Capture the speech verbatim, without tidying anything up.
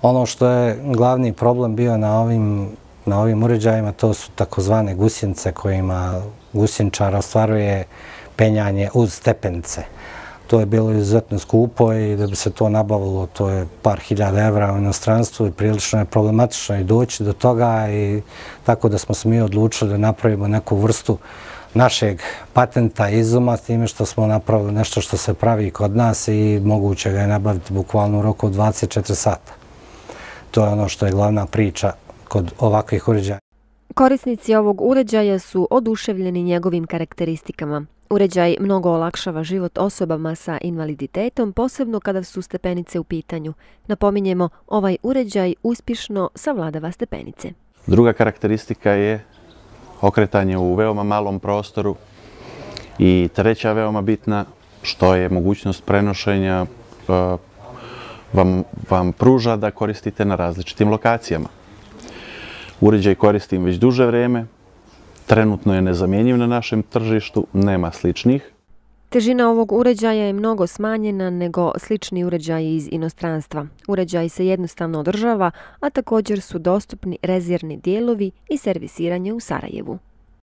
Ono što je glavni problem bio na ovim, na ovim uređajima, to su takozvane gusjenice kojima gusjenčar ostvaruje penjanje uz stepenice. To je bilo izuzetno skupo i da bi se to nabavilo, to je par hiljada evra u inostranstvu i prilično je problematično i doći do toga, i tako da smo se mi odlučili da napravimo neku vrstu našeg patenta izuma, s time što smo napravili nešto što se pravi kod nas i moguće ga je nabaviti bukvalno u roku od dvadeset četiri sata. To je ono što je glavna priča kod ovakvih uređaja. Korisnici ovog uređaja su oduševljeni njegovim karakteristikama. Uređaj mnogo olakšava život osobama sa invaliditetom, posebno kada su stepenice u pitanju. Napominjemo, ovaj uređaj uspješno savladava stepenice. Druga karakteristika je okretanje u veoma malom prostoru i treća veoma bitna, što je mogućnost prenošenja vam, vam pruža da koristite na različitim lokacijama. Uređaj koristim već duže vreme, trenutno je nezamjenjiv na našem tržištu, nema sličnih. Težina ovog uređaja je mnogo smanjena nego slični uređaji iz inostranstva. Uređaj se jednostavno održava, a također su dostupni rezervni dijelovi i servisiranje u Sarajevu.